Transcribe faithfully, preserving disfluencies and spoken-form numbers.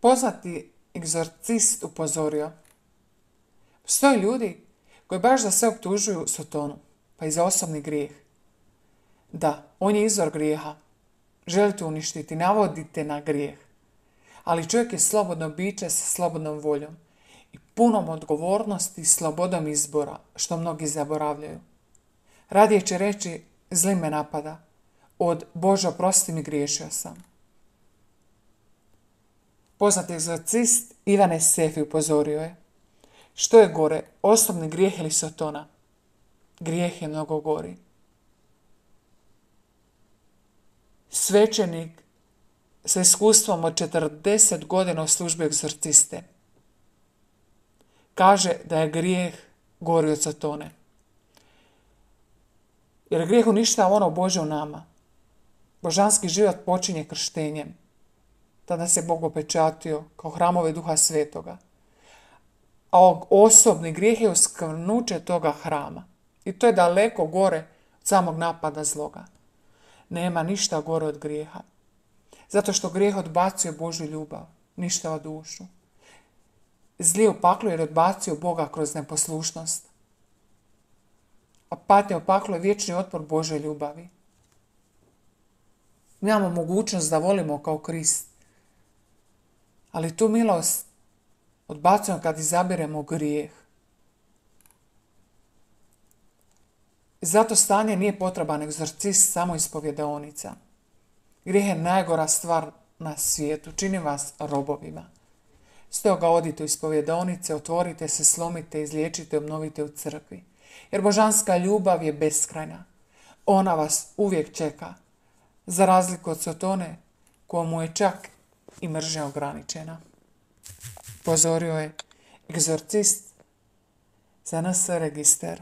Poznati egzorcist upozorio: postoje ljudi koji baš za sve optužuju Sotonu, pa i za osobni grijeh. Da, on je izvor grijeha. Želite uništiti, navodite na grijeh. Ali čovjek je slobodno biće sa slobodnom voljom i punom odgovornosti i slobodom izbora, što mnogi zaboravljaju. Radije će reći: zli me napada, od Bože oprosti mi, griješio sam. Poznati egzorcist Ivane Sefi upozorio je: što je gore, osobni grijeh ili Sotona? Grijeh je mnogo gori. Svećenik sa iskustvom od četrdeset godina u službi egzorciste kaže da je grijeh gori od Sotone. Jer grijeh uništava ono Božje u nama. Božanski život počinje krštenjem. Tada se Bog opečatio kao hramove Duha Svetoga. A osobni grijeh je uskvrnuće toga hrama. I to je daleko gore od samog napada zloga. Nema ništa gore od grijeha. Zato što grijeh odbacuje Božju ljubav, ništa od dušu. Zli u paklu jer odbacio Boga kroz neposlušnost. A patnja u paklu je vječni otpor Božje ljubavi. Mi imamo mogućnost da volimo kao Krist. Ali tu milost odbacujemo kad izabiremo grijeh. I zato stanje nije potreban egzorcist samo ispovjedaonica. Grijeh je najgora stvar na svijetu, čini vas robovima. Stoga odite u ispovjedaonice, otvorite se, slomite, izliječite, obnovite u crkvi. Jer božanska ljubav je beskrajna. Ona vas uvijek čeka, za razliku od Sotone, kojemu je čak i mržnja ograničena. Pozorio je egzorcist za N S register.